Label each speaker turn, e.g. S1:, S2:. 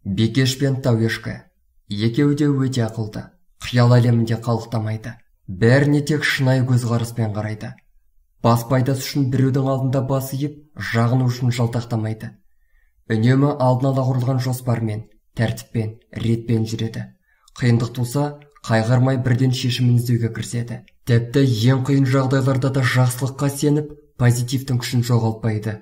S1: Бекеш пен Тауешкі екеуі де өте ақылды, қиял әлемінде қалықтамайды. Бәріне тек шынайы көзқараспен қарайды. Бас пайдасы үшін біреудің алдында бас иіп, жағыну үшін жалтақтамайды. Үнемі алдын ала құрылған жоспармен, тәртіппен, ретпен жүреді. Қиындық туса, қайғырмай бірден шешімін іздеуге кіріседі. Тіпті ең қиын жағдайларда да жақсылыққа сеніп, позитивтің күшін жоғалтпайды.